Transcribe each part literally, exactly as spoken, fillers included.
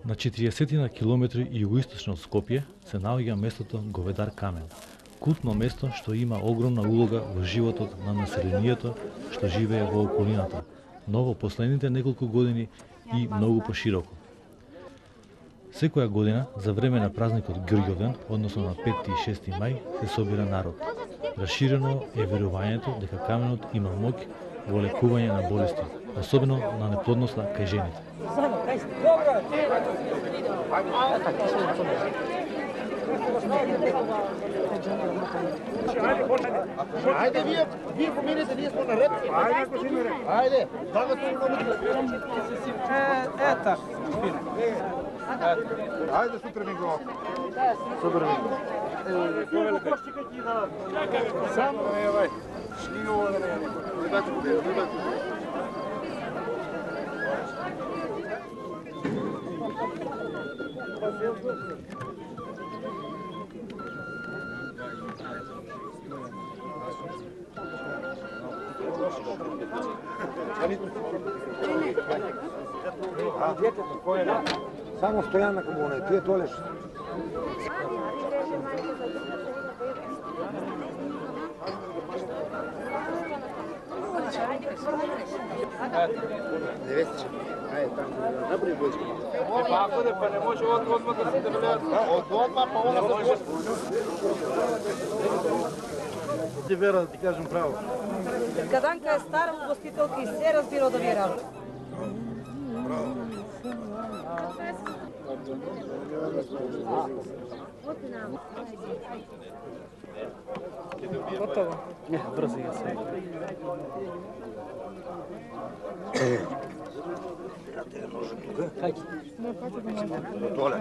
На четириесет на километри југоисточно од Скопје се наоѓа местото Говедар камен, култно место што има огромна улога во животот на населението што живее во околината, но во последните неколку години и многу пошироко. Секоја година за време на празникот Ѓорѓовден, односно на петти и шести мај, се собира народ. Расширено е верувањето дека каменот има моќ во лекување на болести, особено на неплодноста кај жените. Ајде, вие, вие поминете, ние сме на ред. Ајде, да го се Ета. Ајде, сутре ми го. Сутре ми го. Само, евај. Шнино да не рибачко, рибачко. Само стојан на комуна, ти е толеш. Невестиче. Ајде, таму. Направи бојчка. Па ако де, па не може одма да се дебелеат. Од одма, па она се може. Ти вера, да ти кажем право. Гаданка е стара гостителка и се разбира да ви работи. Готово. Не, брзо ја се. Ја те ножи тука. Хајде. Доле.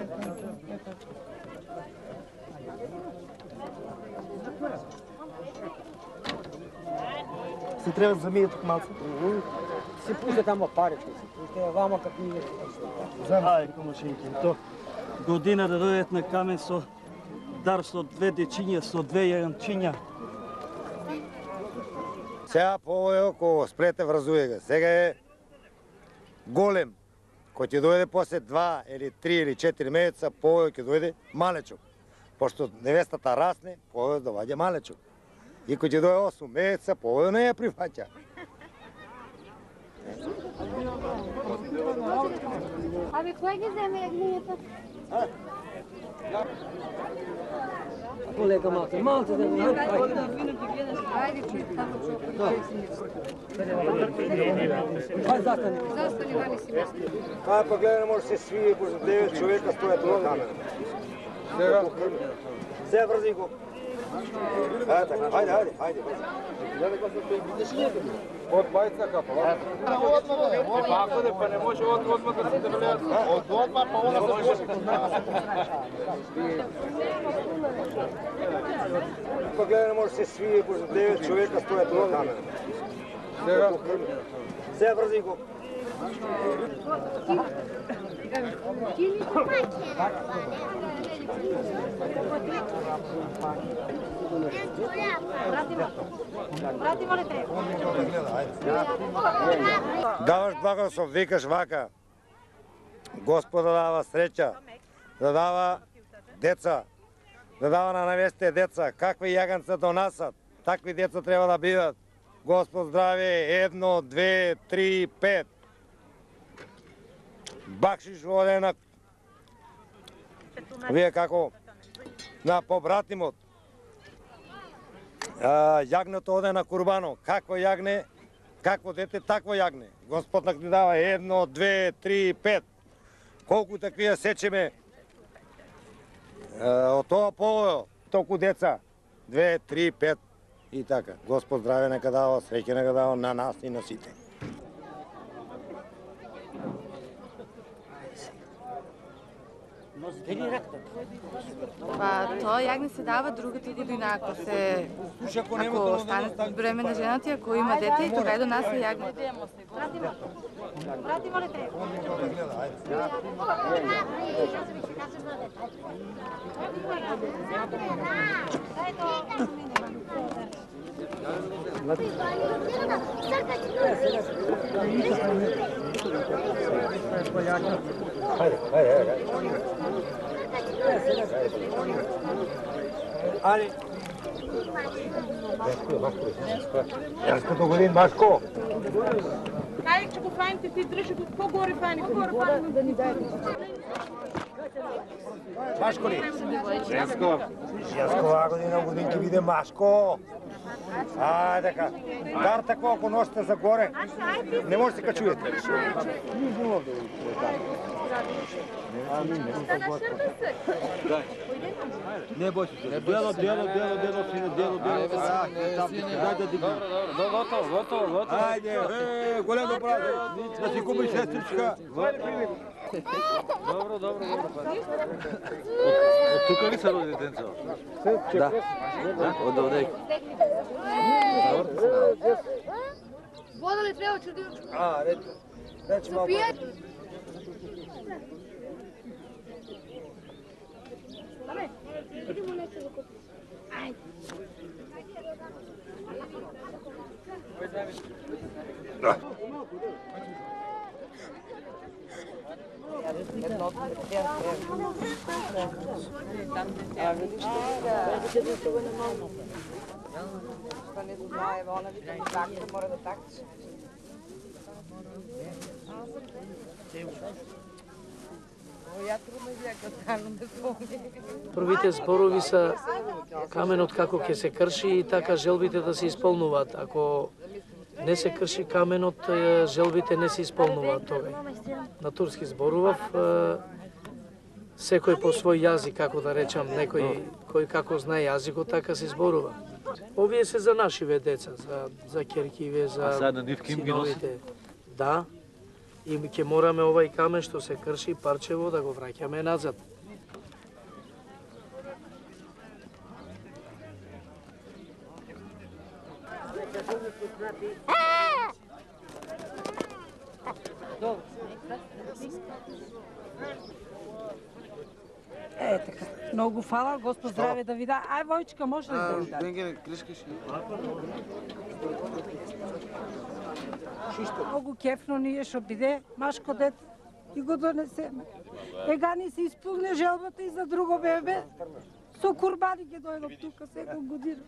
Се треба да замије тук малку. Си пусте тамо парите, си пусте вама како ние. Ај, комашинки, то година да дојдат на камен со дар со две дечиња, со две јаганчиња. Сега по овој око сплете вразуе га. Сега е голем. Кој ќе дојде после два или три или четири месеца, по овој ќе дојде малечок. Пошто невестата расне, по овој доваѓа малечок. И кој ќе дојде осум месеца, по овој не ја прифаќа. Абе, кој ги земе јагнињата? Колега малце, малце да го Ајде, чуј, тамо Ај застани. Застани, вали си место. Ај па гледа, може се свие, може девет човека стојат на камера. Сега, сега врзи го. Ајде, така, ајде, ајде, ајде. Од бајца капа, ва? Одма, бе, Па ако де, па не може одма да се дебелеат. од одма, па она се може. Па гледа, може се свие, може девет човека стојат на камера. Сега, сега врзи го. Брати, моля те. Даваш благослов, викаш вака. Господа дава среќа, да дава деца, да дава на невесте деца. Какви јаганца донасат, такви деца треба да бидат. Господ здраве, едно, две, три, пет. Бакшиш оде на... Вие како? На побратимот. А, јагнето оде на курбано. Какво јагне? Какво дете, такво јагне. Господ нак ни дава едно, две, три, пет. Колку такви ја сечеме од тоа повојо, толку деца. Две, три, пет и така. Господ здраве нека дава, среќа нека дава на нас и на сите. Па тоа јагне се дава другата година ако се ако стане бремена жената, ако има дете и тога и до нас е јагне. Брати, моля те. Сркач. Хајде, хајде, хајде. Али. Јас до годин Машко. Хајде ќе го фајните, ти држи го погоре фајните. Да ни дајте. Машко ли? Јаско. Јаско оваа година годин ќе биде Машко. А, така. Дар тако ако носите за горе, не може да се качуете. Не бој се. Дело, дело, дело, дело, сине, дело, дело. Дај да дигнем. Готово, готово, готово. Ајде, е, големо брат, да си купиш сестричка. Добро, добро, добро. Од тука ли се роди детенцето? Да. Од овде. Вода ли треба чудио? А, рече. Рече малко. Аме, идемо нека да купим. Ајде. Што не го знае, она вика ми такса, мора да такса. Ја трудно века станам да спомнам. Првите зборови се каменот како ќе се крши и така желбите да се исполнуваат. Ако не се крши каменот, желбите не се исполнуваат тогај. На турски зборував, секој по свој јазик, како да речам, некој кој како знае јазикот, така се зборува. Овие се за нашиве деца, за, за керкиве, за А сега нивки им ги носи? синовите. Да, и ќе мораме овај камен што се крши парчево да го враќаме назад. Е, така. Многу фала, Господ здраве да ви да. Ај, Војчка, може ли да ви да? Бенгеле, кришкаш. Многу кефно ние што биде, Машко дет и го донесеме. Ега ни се исполне желбата и за друго бебе. Со курбани ќе дојдам тука секој година.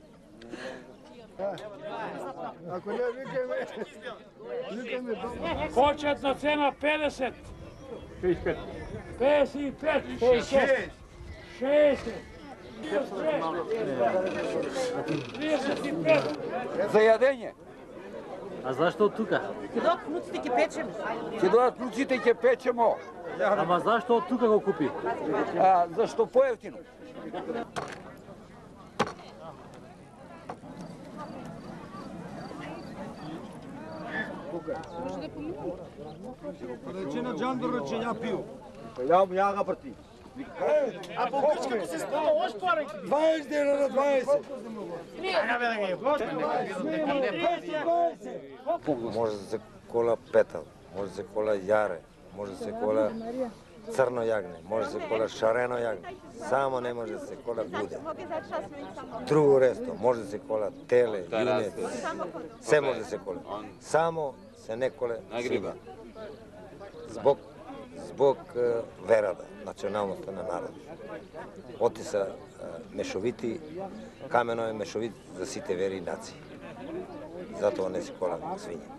Ако не викаме, викаме добро. Почетна цена педесет. педесет и пет. педесет и пет. шест. шест. тридесет и пет. За јадење. А зашто од тука? Ќе дојдат внуците ќе печеме. Ќе дојдат внуците и ќе печемо. Ама зашто од тука го купи? А, зашто поевтино? Рече на Джандор, рече ја пиу. Ја, ја га прти. А по грчката се спала ош парајки. дваесет дена на дваесет. Може да се кола петал, може да се кола јаре, може да се кола црно јагне, може да се кола шарено јагне. Само не може да се кола гуде. Друго ресто, може да се кола теле, јунец. Се може да се кола. Само се не коле свиња. Због због верата, националноста на народот. Оти се мешовити, камено е мешовит за сите вери и нации. Затоа не се кола свиња.